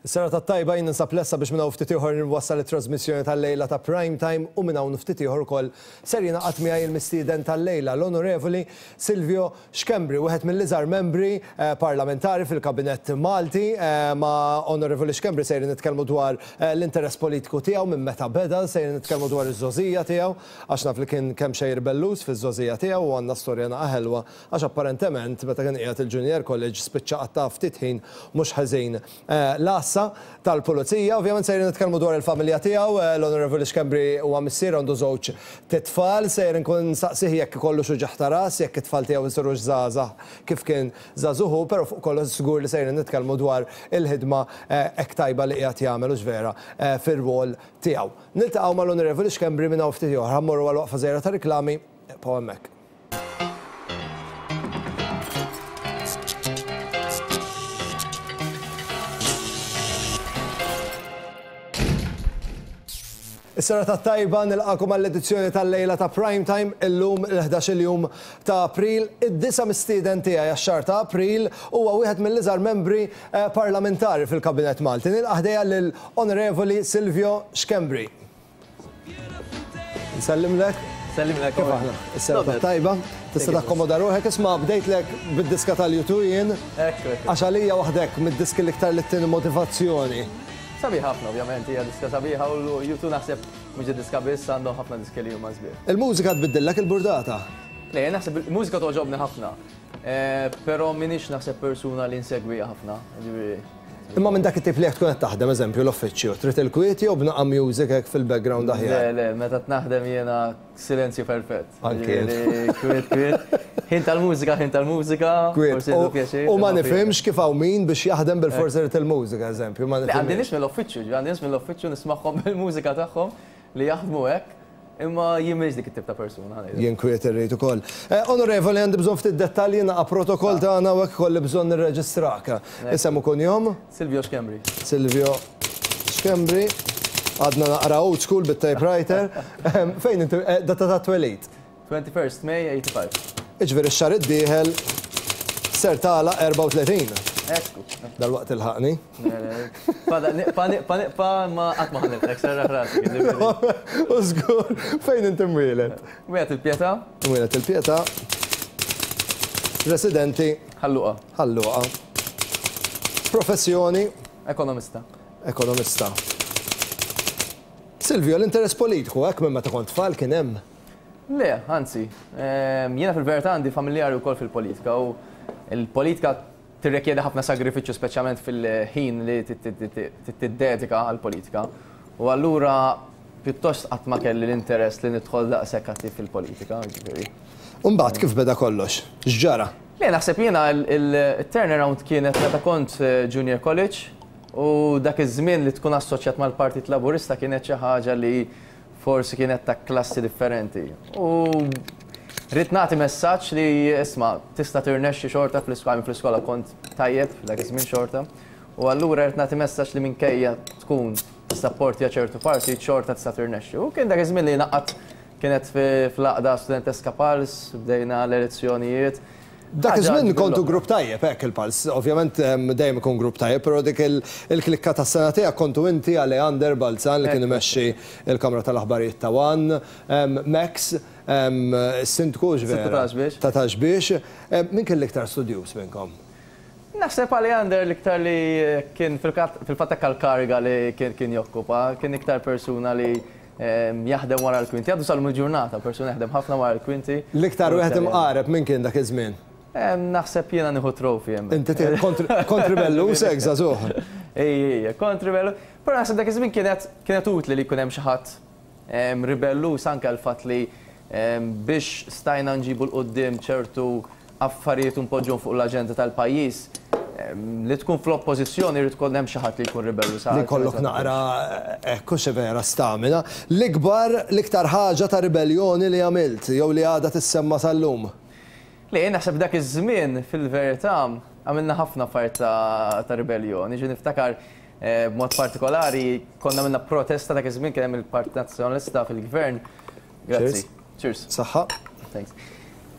Is-serata t-tajba jien ninsab lesta biex minn hawn ftit ieħor nwassal it-trasmissjoni tal-lejla ta' Prime Time u minn hawn ftit ieħor ukoll ser jingħaqad miegħi il-mistieden tal-lejla, l-Onorevoli Silvio Schembri, wieħed mill-iżgħar membri parlamentari fil-Kabinett Malti. Ma' Onorevoli Schembri sejrin nitkellmu dwar l-interess politiku tiegħu minn meta beda, sejrin nitkellmu dwar iż-żgħożija tiegħu għax naf li kien kemxejn ribelluż fiż-żgħożija tiegħu u għandna storja naqa' ħelwa għax apparentement meta kien qiegħed il-Junior College spiċċa qatta' ftit ħin mhux ħażin l-għassa tal-Pulizija. Ovvjament sejrin nitkellmu dwar il-familja tiegħu, l-Onorevoli Schembri huwa missier għandu żewġ t'itfal, sejjer inkun nsaqsih jekk ikollux uġigħ ta' ras, jekk it-tfal tiegħu jsirux żgħażagħ kif kien żagħżugħ hu, però fuq kollox żgur li sejrin nitkellmu dwar il-ħidma hekk tajba li qiegħed jagħmel hux vera fir-rwol tiegħu. Niltaqgħu mal-Onorevoli Schembri minn hawn ftit ieħor. Ħa mmorru għal waqfa żgħira ta' riklami, ibqgħu hemmhekk. Is-serata t-tajba nilqakom għall-edizzjoni tal-lejla ta' Prime Time illum il-11 jum ta' April. Id-disa mistieden tiegħi għax-xahar ta' April huwa wieħed mill-iżgħar membri eh, parlamentari fil-Kabinett Malti. Nilqa' ħdejja lil Onorevoli Silvio Schembri. Nsellimlek. Sellimlek. Kif aħna? Is-serata tajba. Tista' takkomoda ruħek. Isma' bdejtlek bid-diska tal-U2 jien. Għax għalija waħdek mid-diski l-iktar li ttini motivazzjoni. Sabiħ ħafna ovvjament, hija diska sabiħa u U2 naħseb mhux diska biss għandhom ħafna diski li huma sbieħ. Il-mużika tbiddillek il-burdata? Le, naħseb il-mużika togħġobni ħafna. Eh, però m'iniex naħseb persuna li nsegwiha ħafna. Ġifieri. Imma minn dak it-tip li jekk tkun qed taħdem, eżempju, l-uffiċċju, trid il-kwiet jew b'naqa' music hekk fil-background aħjar? Le, le, meta naħdem jiena silenzju perfett. Anki jien. Kwiet, kwiet. Ħin tal-mużika, ħin tal-mużika. Kwiet. U ma nifhimx kif hawn min biex jaħdem bilfors irid il-mużika, eżempju, ma nifhimx. Għandi nies mill-uffiċċju, għandi nies mill-uffiċċju nismagħhom bil-mużika tagħhom li jaħdmu hekk. Imma jien m'iniex dik it-tip ta' persuna. Jien kwiet irrid ukoll. Onorevoli, għandi bżonn ftit dettalji naqa' protokoll tagħna u hekk ikolli bżonn nirreġistrak. Isem u kunjom? Silvio Schembri. Silvio Schembri. Għadna naqra old school bit-typewriter. Fejn inti, data tat-twelid? 21st May 85. Jiġifieri x-xahar id-dieħel ser tagħlaq 34. Ekku. Dalwaqt tilħaqni. Fada, niqpa, niqpa, niqpa, ma qatt ma ħaniltek, serraħ rasek. U żgur, fejn inti mwieled? Mwieled il-Pietà. Mwieled il-Pietà. Residenti? Ħal Luqa. Ħal Luqa. Professjoni? Ekonomista. Ekonomista. Silvio, l-interess politiku hekk minn meta kont tfal kien hemm? Le, anzi. Jiena fil-verità għandi familjari wkoll fil-politika u l-politika tirrikjedi ħafna sagrifiċċju speċjalment fil-ħin li tiddedika għall-politika. U allura pjuttost qatt ma kelli l-interess li nidħol daqshekk attiv fil-politika, jiġifieri. U mbagħad kif beda kollox? X'ġara? Le, naħseb jiena il-turnaround kienet meta kont junior college u dak iż-żmien li tkun assoċjat mal-Partit Laburista kienet xi ħaġa li forsi kienet ta' klassi differenti. U ridt nagħti messaġġ li isma' tista' tirnexxi xorta fl-iskola, fl-iskola kont tajjeb dak iż-żmien xorta. U allura ridt nagħti messaġġ li minkejja tkun tissapportja ċertu partit xorta tista' tirnexxi. U kien dak iż-żmien li naqgħad kienet fl-għaqda studenteska Pals, bdejna l-elezzjonijiet. Dak iż-żmien kontu grupp tajjeb, hekk il-Pals. Ovvjament dejjem ikun grupp tajjeb, però dik il-klikka tas-sena tiegħek kontu inti, Aleander Balzan li kien imexxi l-Kamra tal-Aħbarijiet ta' One, Max, is-Sindku hux vera? Sindku ta' Xbiex. Ta' Xbiex. Min kien l-iktar studjuż minnkom? Naħseb Aleander l-iktar li kien fil-fatt hekk għall-kariga li kien jokkupa, kien iktar persuna li Jaħdem wara l-kwinti. Għadu sal-lum il-ġurnata, persuna jaħdem ħafna wara l-kwinti. L-iktar wieħed imqareb min kien dak iż-żmien? Naħseb jiena nieħu trophy hemmhekk. Inti tieħu kont ribelluż hekk żagħżugħ? Ejja, ejja, kont ribelluż. Però naħseb dak iż-żmien kienet kienet utli li jkun hemm xi ħadd ribelluż anke għall-fatt li biex stajna nġibu 'l quddiem ċertu affarijiet u npoġġuhom fuq l-aġenda tal-pajjiż, li tkun fl-oppożizzjoni jrid ikun hemm xi ħadd li jkun ribellu sa. Li jkollok naqra, hekk hux vera, stamina. L-ikbar, l-iktar ħaġa ta' ribelljoni li għamilt jew li għadha tissemma sal-lum? Le, jien naħseb dak iż-żmien fil-verità għamilna ħafna affarijiet ta' ribelljoni. Ġifieri niftakar b'mod partikolari konna għamilna protesta dak iż-żmien kien hemm il-Partit Nazzjonalista fil-Gvern Grazzi. Cheers. Saħħa. Thanks.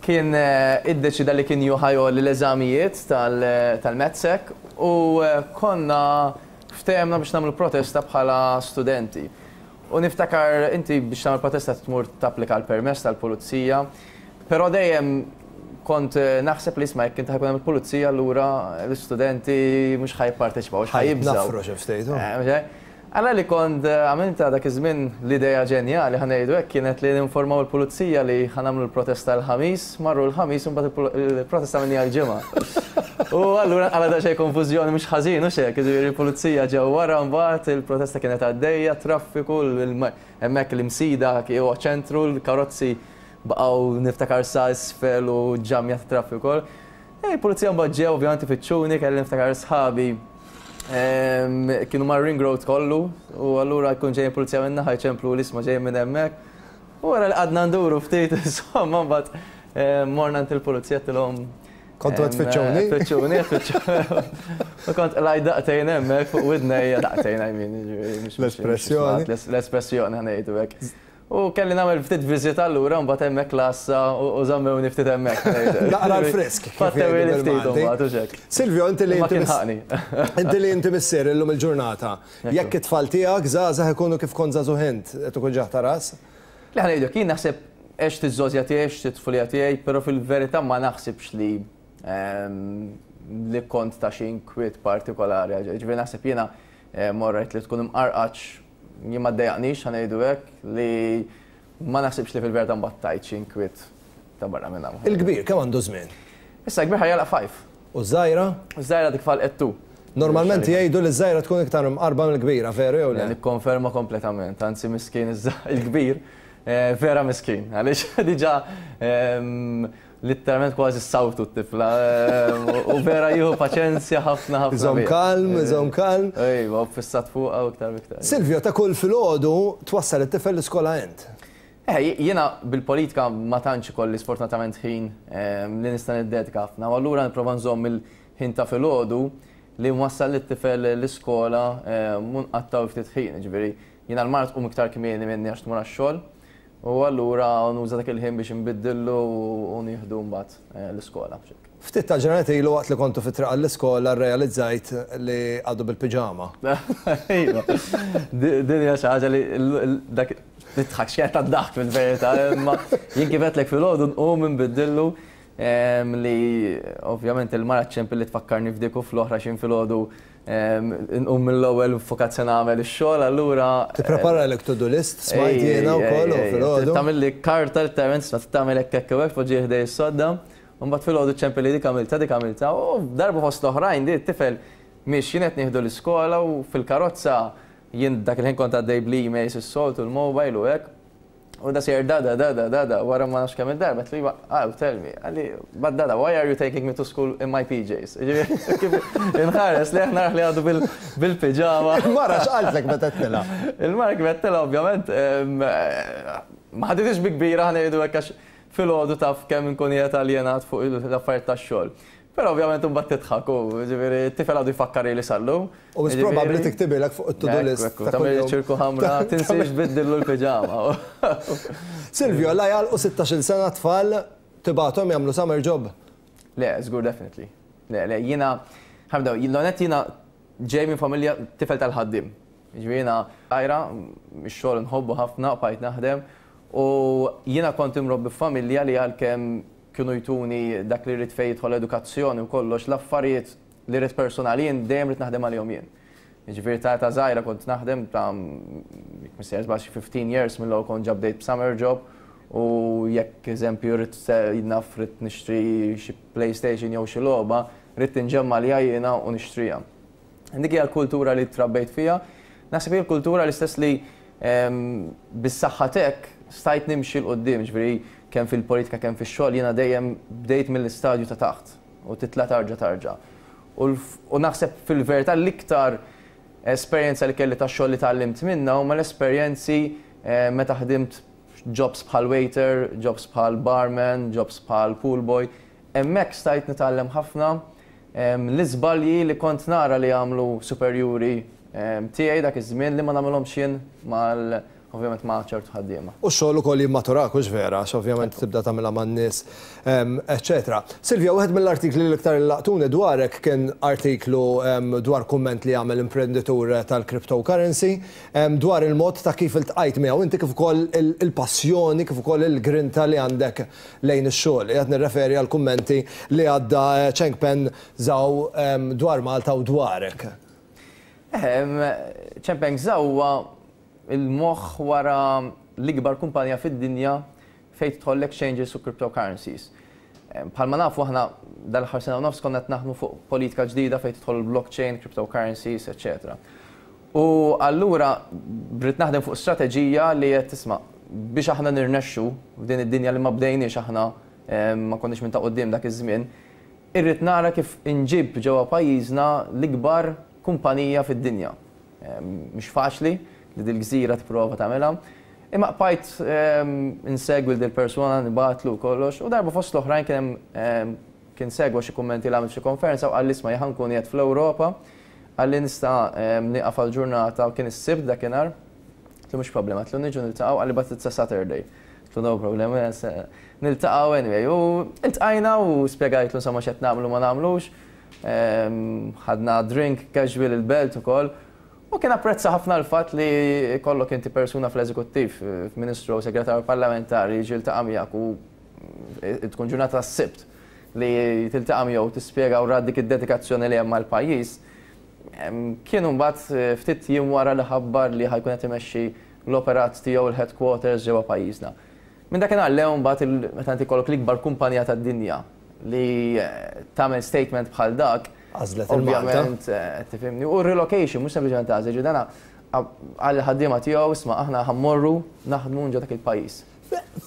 Kien iddeċida li kien juħa jgħolli l-eżamijiet tal-MATSEC u konna ftehemna biex nagħmlu protesta bħala studenti. U niftakar inti biex tagħmel protesta tmur tapplika l-permess tal-pulizija, però dejjem kont naħseb li isma' jekk inti ħa jkun hemm il-pulizija allura l-istudenti mhux ħa jipparteċipaw, ħa jibżgħu. Nafru xi ftit. Alla li kont għamiltha dak iż-żmien l-idea ġenjali, ħa ngħidu hekk, kienet li ninformaw il-pulizija li ħa nagħmlu l-protesta l-Ħamis, marru l-Ħamis u mbagħad il-protesta għamilniha l-Ġimgħa. U allura nqala' daqsxejn konfużjoni mhux ħażin hux hekk, jiġifieri l-pulizija ġew wara mbagħad il-protesta kienet għaddejja, traffiku, hemmhekk l-Imsida huwa ċentru, l-karozzi baqgħu niftakar sa isfel u ġamja ta' traffiku wkoll. Il-pulizija mbagħad ġew ovvjament ifittxuni, kelli niftakar sħabi Kienu mar-ring road kollu u allura jkun ġejjin pulizija minn naħa jċemplu l-isma ġejjin minn hemmhekk. U wara li qgħadna nduru ftit, insomma mbagħad morna għand il-pulizija għedtilhom Kontu qed tfittxuni? Tfittxuni, tfittxuni. U kont qlajt daqtejn hemmhekk fuq widnejja, daqtejn I mean, L-espressjoni. L-espressjoni ħa ngħidu hekk. U kelli nagħmel ftit viżita allura mbagħad hemmhekk l-għassa u żammewni ftit hemmhekk. Naqra l-frisk. Fattewli ftit imbagħad u x'hekk. Silvio, inti li Ma kien ħaqni. Inti li inti missier illum il-ġurnata. Jekk it-tfal tiegħek żgħażagħ ikunu kif kont żagħżugħ int, qed ikun ġaħ ta' ras? Le ħa ngħidlek, jien naħseb għext iż-żgħożija tiegħi, għext it-tfulija tiegħi, però fil-verità ma naħsibx li li kont ta' xi inkwiet partikolari. Ġifieri naħseb jiena morrejt li tkun imqarqaċ Jien ma ddejjaqnix, ħa ngħidu hekk, li ma naħsibx li fil-verità mbagħad tajt xi inkwiet ta' barra minn hawn. Il-kbir kemm għandu żmien? Issa l-kbir ħa jagħlaq five. U ż-żgħira? Iż-żgħira dik falqet two. Normalment jgħidu li ż-żgħira tkun iktar imqarba mill-kbira, veru jew le? Nikkonferma kompletament, anzi miskin il-kbir, vera miskin, għaliex diġà Litteralment kważi ssawtu t-tifla u vera jieħu paċenzja ħafna ħafna. Iżomm kalm, iżomm kalm. Ejwa, u ffissat fuqha u iktar u iktar. Silvio, ta' kull filgħodu twassal it-tifel l-iskola int? Eh, jiena bil-politika ma tantx ikolli sfortunatament ħin li nista' niddedika ħafna u allura nipprova nżomm il-ħin ta' filgħodu li nwassal lit-tifel l-iskola u nqattgħu ftit ħin, jiġifieri jiena l-mara tqum iktar kmieni minni għax tmur għax-xogħol. U allura nuża dak il-ħin biex inbiddillu u nieħdu mbagħad l-iskola. Ftit tal-ġranet ilu waqt li kontu fit-triq għall-iskola rrealizzajt li għadu bil-piġama. Iva. Din hija xi ħaġa li dak nidħak x'kienet tad-daħk fil-verità, imma jien kif għedtlek filgħodu nqum inbiddillu li ovvjament il-mara ċċempilli tfakkarni f'dik u fl-oħra x'jien filgħodu Nqum mill-ewwel ffukat se nagħmel ix-xogħol allura. Tippreparalek to-do list smajt jiena wkoll u filgħodu. Tagħmilli karta letteralment tista' tagħmel hekk hekk u hekk tpoġġiha ħdej is-sodda. U mbagħad filgħodu ċċempilli dik għamiltha dik għamiltha u darba fost l-oħrajn di t-tifel miexjin qed nieħdu l-iskola u fil-karozza jien dak il-ħin kont għaddej bl-emails is-soltu l-mobile u hekk. U da sejjer dada, dada, dada, wara ma nafx kemm il-darba, għedtlu iva, oh, tell me. Qalli, but dada, why are you taking me to school in my PJs? Kif inħares lejh narah li għadu bil-piġama. Il-mara x'qaltlek meta għedtilha? Il-mara kif għedtilha ovvjament, ma ħaditix bi kbira ħa ngħidu hekk għax filgħodu taf kemm inkun qiegħed aljenat fuq l-affarijiet tax-xogħol. Però ovvjament imbagħad tidħak u ġifieri t-tifel għadu jfakkar ili sal-lum. U mhux probabbli tiktibilek fuq it-to-do list. Ekku, tagħmel ċirku ħamra, tinsiex tbiddillu l-piġama. Silvio, la jagħlqu 16-il sena t-tfal tibgħathom jagħmlu summer job? Le, żgur definitely. Le, le, jiena, ħa nibdew, l-għonet jiena ġej minn familja tifel tal-ħaddiem. Jiġifieri jiena żgħira, ix-xogħol nħobbu ħafna, bqajt naħdem u jiena kont imrobbi f'familja li għalkemm kienu jtuni dak li rrid fejn jidħol edukazzjoni u kollox, l-affarijiet li rrid personali jien dejjem ridt naħdem għalihom jien. Jiġifieri ta' età żgħira kont naħdem ta' jekk mhux sejjer żball xi 15 years mill-ewwel kont ġa bdejt b'summer job u jekk eżempju rrid naf ridt nixtri xi PlayStation jew xi logħba, ridt inġemma' għaliha jiena u nixtriha. Dik hija l-kultura li trabbejt fiha. Naħseb hija l-kultura l-istess li bis-saħħa t'hekk stajt nimxi 'l quddiem, jiġifieri kemm fil-politika kemm fix-xogħol jiena dejjem bdejt mill-istadju ta' taħt u titla' tarġa' tarġa'. U naħseb fil-verità l-iktar esperjenza li kelli ta' xogħol li tgħallimt minnha huma l-esperjenzi meta ħdimt jobs bħal waiter, jobs bħal barman, jobs bħal pool boy. Hemmhekk stajt nitgħallem ħafna L-iżbalji li kont nara li għamlu superjuri tiegħi dak iż-żmien li ma nagħmilhomx jien ovvjament ma' ċertu ħaddiema. U x-xogħol ukoll jimmaturak, hux vera, għax ovvjament tibda tagħmilha man-nies, eċċetera. Silvia, wieħed mill-artikli li l-iktar laqtuni dwarek kien artiklu dwar kumment li għamel imprenditur tal-cryptocurrency dwar il-mod ta' kif iltqajt miegħu inti kif ukoll il-passjoni kif ukoll il-grinta li għandek lejn ix-xogħol. Qiegħed nirreferi għall-kummenti li għadda Chengpeng Zhao dwar Malta u dwarek. Chengpeng Zhao huwa il-moħħ wara l-ikbar kumpanija fid-dinja fejn tidħol l-exchanges u cryptocurrencies. Bħalma nafu aħna dal-aħħar sena u nofs konna qed naħdmu fuq politika ġdida fejn tidħol il-blockchain, cryptocurrencies, eċċetera. U allura brid naħdem fuq strateġija li qed tisma' biex aħna nirnexxu f'din id-dinja li ma bdejniex aħna, ma konniex minn ta' quddiem dak iż-żmien, irrid nara kif inġib ġewwa pajjiżna l-ikbar kumpanija fid-dinja. Mhix faċli li dil-gżira tipprova tagħmilha. Imma bqajt insegwi lil dil-persuna, nibgħatlu u kollox, u darba fost l-oħrajn kien hemm kien segwa xi kummenti li għamilt f'xi konferenza u qalli isma' jien ħa nkun qiegħed fl-Ewropa, qalli nista' nieqaf għal ġurnata u kien is-Sibt dakinhar. Għedtlu mhux problema, għedtlu niġu niltaqgħu, qalli but it's a Saturday. Għedtlu no problem, niltaqgħu anyway. U iltqajna u spjegajtlu insomma x'qed nagħmlu u ma nagħmlux. Ħadna drink casual il-Belt ukoll. U kien apprezza ħafna l-fatt li jkollok inti persuna fl-eżekuttiv, Ministru jew Segretarju Parlamentari jiġi jiltaqa' miegħek u tkun ġurnata tas-Sibt li tiltaqa' miegħu u tispjega u ra dik id-dedikazzjoni li hemm għall-pajjiż. Kien imbagħad ftit jiem wara li ħabbar li ħa jkun qed imexxi l-operat tiegħu l-headquarters ġewwa pajjiżna. Minn dakinhar 'l hawn imbagħad meta inti jkollok l-ikbar kumpanija tad-dinja li tagħmel statement bħal dak, Għażlet il-Malta. Ovvjament, tifhimni. U relocation, mhux sempliċement għażel, ġifieri dana qal lill-ħaddiema tiegħu, isma' aħna ħa mmorru naħdmu ġo dak il-pajjiż.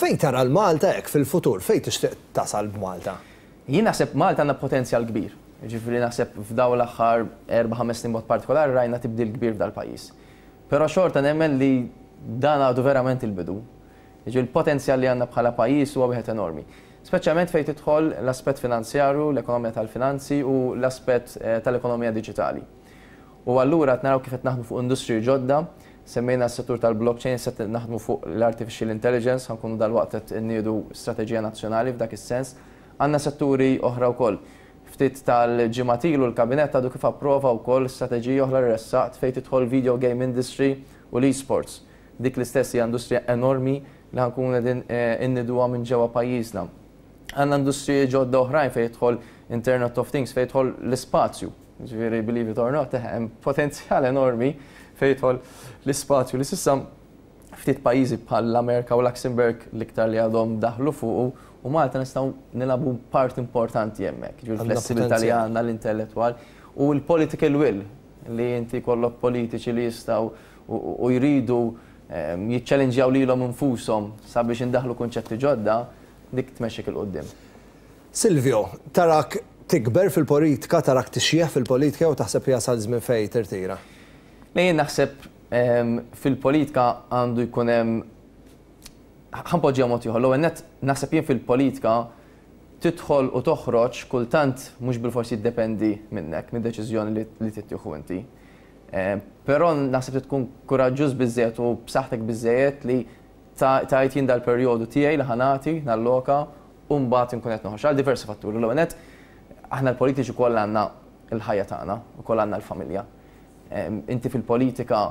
Fejn tara l-Malta hekk fil-futur? Fejn tixtieq tasal b'Malta? Jien naħseb Malta għandna potenzjal kbir. Jiġifieri naħseb f'dawn l-aħħar erba' ħames snin b'mod partikolari rajna tibdil kbir f'dal-pajjiż. Però xorta nemmen li dan għadu verament il-bidu. Jiġifieri l-potenzjal li għandna bħala pajjiż huwa wieħed enormi. Speċjalment fejn tidħol l-aspett finanzjarju, l-ekonomija tal-finanzi u l-aspett tal-ekonomija diġitali. U allura qed naraw kif qed naħdmu fuq industriji ġodda, semmejna s-settur tal-blockchain, se naħdmu fuq l-artificial intelligence, ħa nkunu dalwaqt qed inniedu strateġija nazzjonali f'dak is-sens. Għandna setturi oħra wkoll. Ftit tal-ġimgħat ilu l-Kabinett għadu kif approva wkoll strateġija oħra li ressaqt fejn tidħol video game industry u l-esports. Dik l-istess hija industrija enormi li ħa nkunu qegħdin inniduha minn ġewwa pajjiżna. Għandna industriji ġodda oħrajn fejn jidħol Internet of Things, fejn jidħol l-ispazju. Ġifieri believe it or not, hemm potenzjal enormi fejn jidħol l-ispazju li s'issa ftit pajjiżi bħal l-Amerika u Luxembourg l-iktar li għadhom daħlu fuqu u Malta nistgħu nilagħbu part importanti hemmhekk. Ġifieri l-flessibilità li għandna, l-intellettwal u l-political will li inti jkollok politiċi li jistgħu u jridu jiċċellinġjaw lilhom infushom sabiex indaħlu kunċetti ġodda, dik tmexxik 'il quddiem. Silvio, tarak tikber fil-politika, tarak tixjieħ fil-politika jew taħseb li jasal żmien fejn tirtira? Le, jien naħseb fil-politika għandu jkun hemm, ħa npoġġiha mod ieħor, l-ewwel nett naħseb jien fil-politika tidħol u toħroġ kultant mhux bilfors jiddependi minnek, mid-deċiżjoni li tittieħu inti. Però naħseb li tkun kuraġġuż biżżejjed u b'saħħtek biżżejjed li tgħid jien dal-perjodu tiegħi li ħa nagħti, nalloka u mbagħad inkun qed noħroġ. Għal diversi fatturi. L-ewwel nett, aħna l-politiċi wkoll għandna l-ħajja tagħna, ukoll għandna l-familja. Inti fil-politika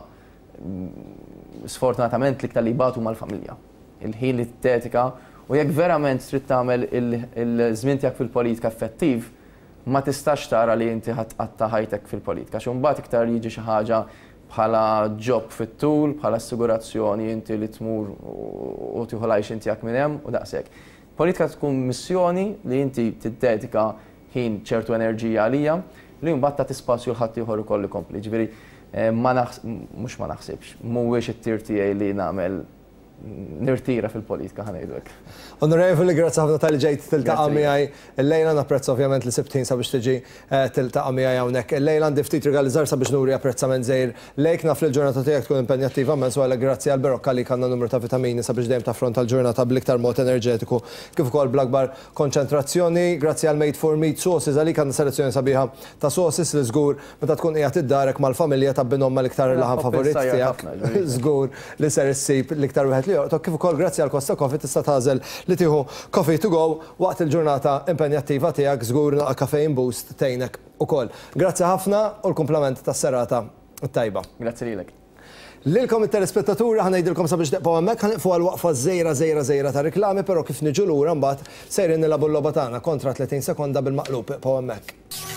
sfortunatament l-iktar li jbatu huma l-familja. Il-ħin li tiddedika u jekk verament trid tagħmel il-żmien tiegħek fil-politika effettiv, ma tistax tara li inti ħa tqatta' ħajtek fil-politika għax imbagħad iktar jiġi xi ħaġa bħala job fit-tul, bħala assigurazzjoni inti li tmur u tieħu l-għajxien tiegħek minn hemm u daqshekk. Politika tkun missjoni li inti tiddedika ħin, ċertu enerġija għalija li mbagħad tagħti spazju 'l ħaddieħor ukoll ikompli. Ġifieri ma mhux ma naħsibx, mhuwiex it-tir tiegħi li nagħmel. nirtira fil-politika, ħa ngħidu hekk. Onorevoli, grazzi ħafna talli ġejt tiltaqa' miegħi illejla, napprezza ovvjament li sibt ħin sabiex tiġi tiltaqa' miegħi hawnhekk illejla. Għandi ftit rigali żgħar sabiex nuri apprezzament żgħir lejk. Naf li l-ġurnata tiegħek tkun impenjattiva immens u għalhekk grazzi għal Berocca għalik għandna numru ta' vitamini sabiex dejjem taffronta l-ġurnata bl-iktar mod enerġetiku kif ukoll bl-akbar konċentrazzjoni. Grazzi għal Made for Meat Sauces għalik għandna selezzjoni sabiħa ta' sauces li żgur Meta tkun qiegħed id-darek mal-familja tgħabbinhom mal-iktar laħam favorit tiegħek, żgur li ser issib l-iktar wieħed li jolqtok, kif ukoll grazzi għal Costa Coffee tista' tagħżel li tieħu coffee to go waqt il-ġurnata impenjattiva tiegħek, żgur naqa' caffeine boost tgħinek ukoll. Grazzi ħafna u l-kumplament tas-serata t-tajba. Grazzi lilek. Lilkom it-telespettaturi ħa ngħidilkom sabiex teqpgħu hemmhekk, ħa nieqfu għal waqfa żgħira żgħira żgħira ta' riklami, però kif niġu lura mbagħad sejrin nilagħbu l-logħba tagħna kontra 30 sekonda bil-maqlub, iqpgħu hemmhekk.